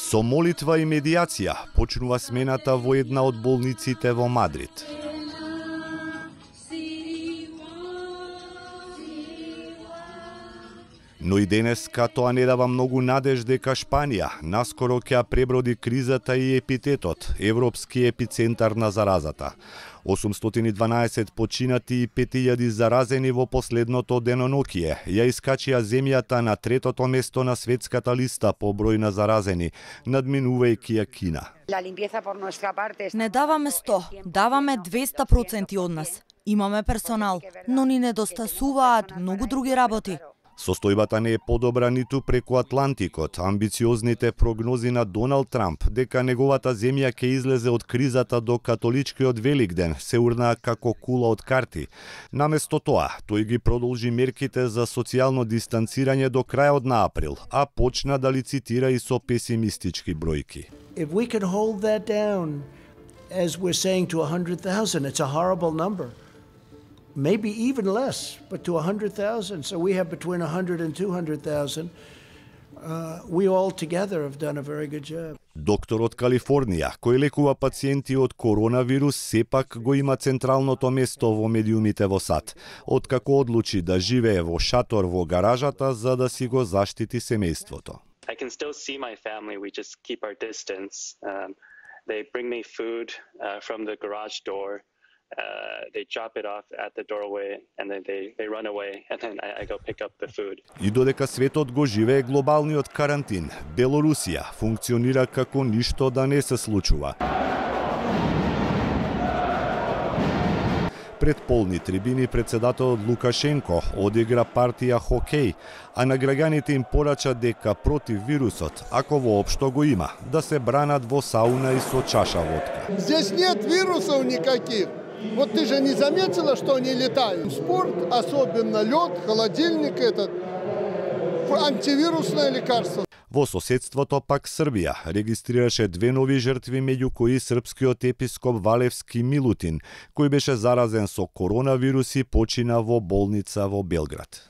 Со молитва и медиација почнува смената во една од болниците во Мадрид. Но и денеска тоа не дава многу надеж дека Шпанија наскоро ќе преброди кризата и епитетот, европски епицентар на заразата. 812 починати и 5000 заразени во последното денонокие ја искачија земјата на третото место на светската листа по број на заразени, надминувајќи ја Кина. Не даваме 100, даваме 200% од нас. Имаме персонал, но ни недостасуваат многу други работи. Состојбата не е подобра ниту преку Атлантикот. Амбициозните прогнози на Доналд Трамп дека неговата земја ќе излезе од кризата до католичкиот Великден се урнаа како кула од карти. Наместо тоа, тој ги продолжи мерките за социјално дистанцирање до крајот на април, а почна да лицитира и со песимистички бројки. If we can hold that down, as we're saying, to 100,000, it's a horrible number. Maybe even less, but to 100,000. So we have between 100 and 200,000. We all together have done a very good job. Доктор од Калифорнија, кој лекува пациенти од коронавирус, сепак го има централното место во медиумите во САД, откако одлучи да живее во шатор во гаражата за да си го заштити семејството. I can still see my family. We just keep our distance. They bring me food from the garage door. They chop it off at the doorway and then they run away and then I go pick up the food. И додека светот го живее глобалниот карантин, Белорусија функционира како ништо да не се случува. Пред полни трибини председателот Лукашенко одигра партија хокеј, а на граѓаните им порача дека против вирусот, ако воопшто го има, да се бранат во сауна и со чаша водка. Здесь нет вирусов никаких. Вот ты же не заметила, что они летают? Спорт, особенно лед, холодильник этот, антивирусное лекарство. Во соседството пак Србија регистрираше 2 нови жртви, меѓу кои српскиот епископ Валевски Милутин, кој беше заразен со коронавирус и почина во болница во Белград.